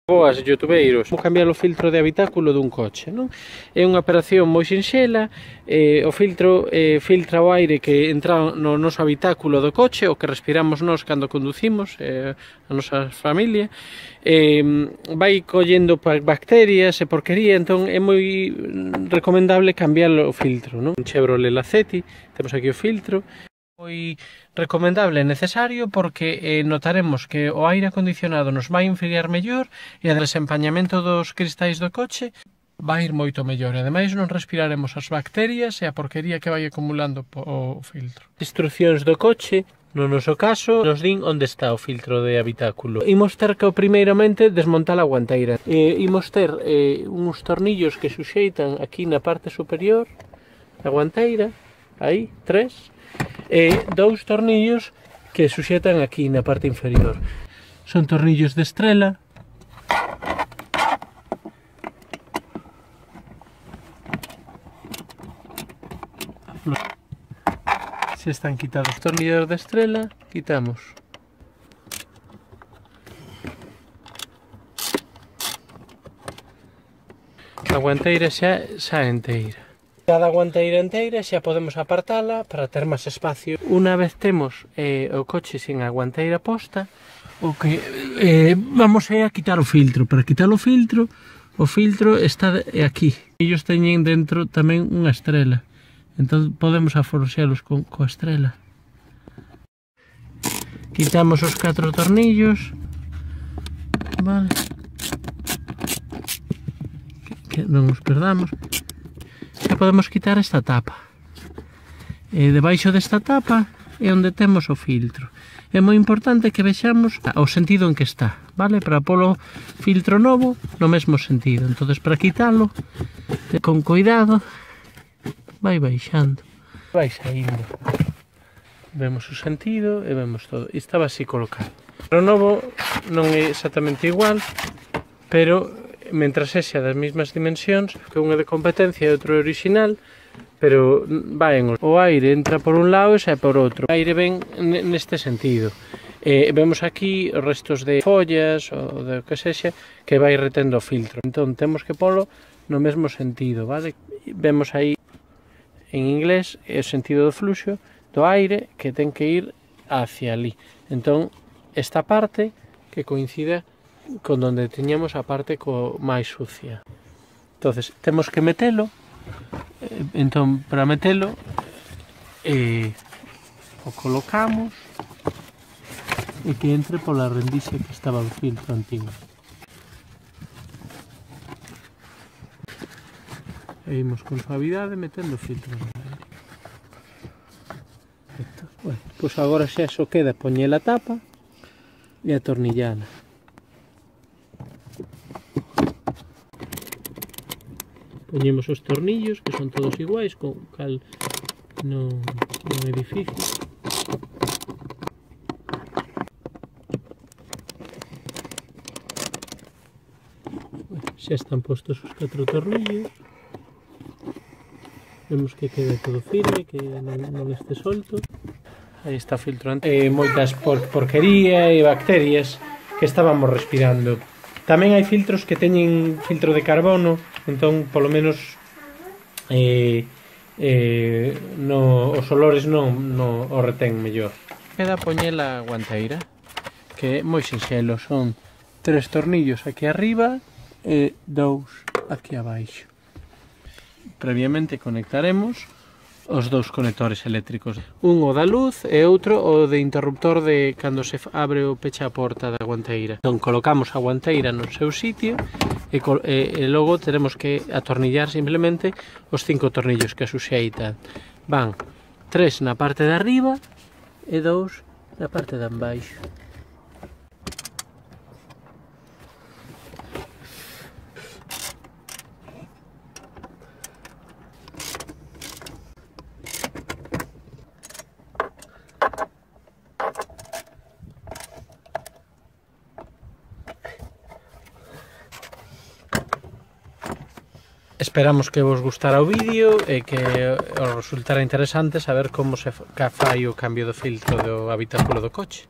Boas, youtubeiros, como cambiar o filtro de habitáculo dun coche, non? É unha operación moi sinxela, o filtro filtra o aire que entra no noso habitáculo do coche, o que respiramos nós cando conducimos, a nosa familia, vai collendo bacterias e porquería, entón é moi recomendable cambiar o filtro, non? Un Chevrolet Lacetti, temos aquí o filtro, moi recomendable e necesario porque notaremos que o aire acondicionado nos vai enfriar mellor e o desempañamento dos cristais do coche vai ir moito mellor e ademais non respiraremos as bacterias e a porquería que vai acumulando o filtro. Instruccións do coche, no noso caso, nos din onde está o filtro de habitáculo. Imos ter que primeiramente desmontar a guanteira. Imos ter uns tornillos que suxeitan aquí na parte superior da guanteira, aí, 3, e 2 tornillos que suxetan aquí na parte inferior. Son tornillos de estrela. Se están quitados os tornillos de estrela, quitamos. A guanteira xa enteira. Cada guanteira enteira xa podemos apartala para ter máis espacio. Unha vez temos o coche sin a guanteira posta, o que vamos a quitar o filtro. Para quitar o filtro está aquí. Ellos teñen dentro tamén unha estrela, entón podemos aforoxelos coa estrela. Quitamos os 4 tornillos, vale, que non os perdamos. E podemos quitar esta tapa. E debaixo desta tapa é onde temos o filtro. É moi importante que vexamos o sentido en que está, vale? Para polo filtro novo no mesmo sentido. Entonces, para quitalo, con cuidado, vai baixando, vai saindo. Vemos o sentido e vemos todo. E estaba así colocado. O novo non é exactamente igual, pero mentras sexa das mesmas dimensións, que un é de competencia e outro é original, pero vaen o aire entra por un lado e xa por outro. O aire ven neste sentido. Vemos aquí os restos de follas ou de que sexa que vai retendo o filtro. Entón temos que polo no mesmo sentido, vale? Vemos aí en inglés o sentido do fluxo do aire que ten que ir hacia ali. Entón esta parte que coincida con donde teñamos a parte máis sucia. Entonces, temos que metelo. Entón, para metelo, o colocamos e que entre pola rendixe que estaba o filtro antigo. E imos con suavidade metendo o filtro. Bueno, pois agora xa só queda poñer a tapa e atornillala. Poñemos os tornillos, que son todos iguais, con cal non é difícil. Xa están postos os 4 tornillos. Vemos que queda todo firme, que non este solto. Aí está o filtro antes. Moitas porquería e bacterias que estábamos respirando. Tamén hai filtros que teñen filtro de carbono, entón, polo menos, os olores non o retén mellor. Queda poñer a guanteira, que é moi sinxelo, son 3 tornillos aquí arriba e 2 aquí abaixo. Previamente conectaremos os 2 conectores eléctricos, un o da luz e outro o de interruptor de cando se abre ou pecha a porta da guanteira. Entón colocamos a guanteira no seu sitio e logo teremos que atornillar simplemente os 5 tornillos que suxeitan. Van 3 na parte de arriba e 2 na parte de abaixo. Esperamos que vos gustara o vídeo e que os resultara interesante saber como se fai o cambio do filtro do habitáculo do coche.